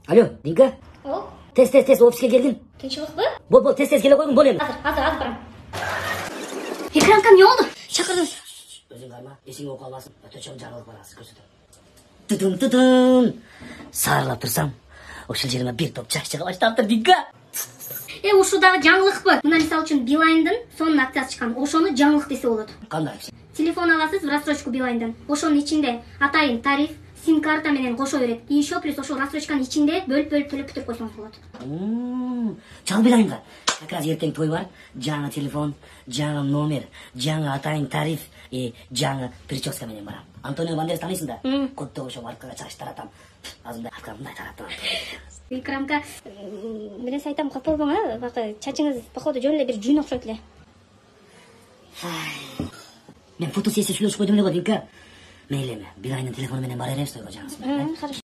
Алло, Динка? Тез, офиске келгин. Тынчылыкпы? Бол, тез келе койгун, бол эми. Азыр барам. Экранка эмне болду? Чакырдыңыз. Өзүң карма, эсиң окуп калбасын. Өтө чоң жаңылык бар, азыр көрсөтөм. Тутун. Сарылап турсам, ошол жериме бир топ жаш чыга баштаптыр, Динка. Ушу дагы жаңылыкпы? Мына мисалы үчүн Билайндын сонун акциясы чыккан. Ошону жаңылык десе болот. Кандай? Телефон аласыз в рассрочку Билайндан. Ошонун ичинде атайын тариф, сим-карта менен кошо берет. И еще плюс ошол рассрочканын ичинде бөлүп төлөп бүтүрүп койсоңуз болот. Чал Билайнга. Как раз эртең той бар. Жаңы телефон, жаңы номер, жаңы атайын тариф, жаңы прическа менен барам. Антонио Бандерас таанысың да? Кодто ошо маркага чач таратам. Азырында аркамдай таратам. Экранка, нерсе айтам, капалбаң, бакы чачыңыз походу жөн эле бир жүйүн окшойт эле. Мен фотосессия сүйлөшүп койдум эле го, Динка. Мейли эми, Билайндын телефону менен бара беребиз тойго жаңысы менен. Хорошо.